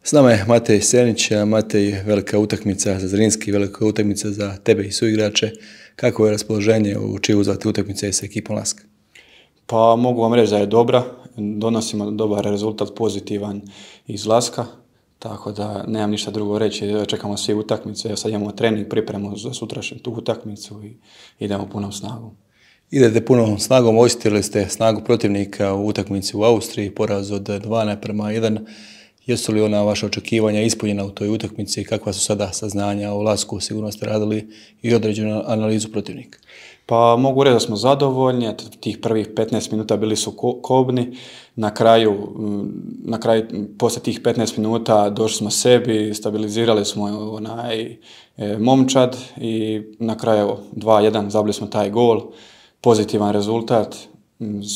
S nama je Matej Senić. Matej, velika utakmica za Zrinski, velika utakmica za tebe i suigrače. Kako je raspoloženje u čiju uzvati utakmice sa ekipom Laska? Pa mogu vam reći da je dobra, donosimo dobar rezultat, pozitivan iz Laska, tako da nemam ništa drugo reći, čekamo svi utakmice, sad imamo trening, pripremu za sutrašnju tu utakmicu i idemo punom snagom. Idete punom snagom, osjetili ste snagu protivnika u utakmici u Austriji, poraz od 2:1. Jesu li ona vaša očekivanja ispunjena u toj utakmici? Kakva su sada saznanja o Lasku? Sigurno ste radili i određenu analizu protivnika. Pa mogu reći da smo zadovoljni, tih prvih 15 minuta bili su kobni, na kraju poslije tih 15 minuta došli smo sebi, stabilizirali smo momčad i na kraju 2:1 zabili smo taj gol, pozitivan rezultat,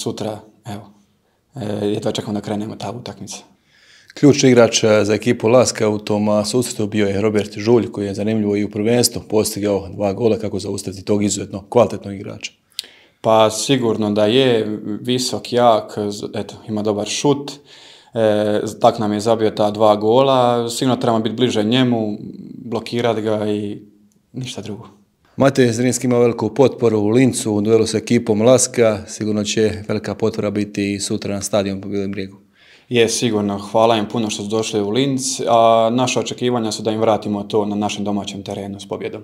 sutra jedva čekamo da krenemo ta utakmica. Ključni igrač za ekipu Laska u tom susretu bio je Robert Žulj, koji je zanimljivo i u prvenstvu postigao 2 gola. Kako zaustaviti tog izuzetno kvalitetnog igrača? Pa sigurno da je visok, jak, ima dobar šut, tak nam je zabio ta 2 gola, sigurno trebamo biti bliže njemu, blokirati ga i ništa drugo. Matej Zrinski ima veliku potporu u Lincu u duelu s ekipom Laska, sigurno će velika potpora biti i sutra na stadionu po Bijelom Brijegu. Je, sigurno, hvala im puno što su došli u Linz, a naša očekivanja su da im vratimo to na našem domaćem terenu s pobjedom.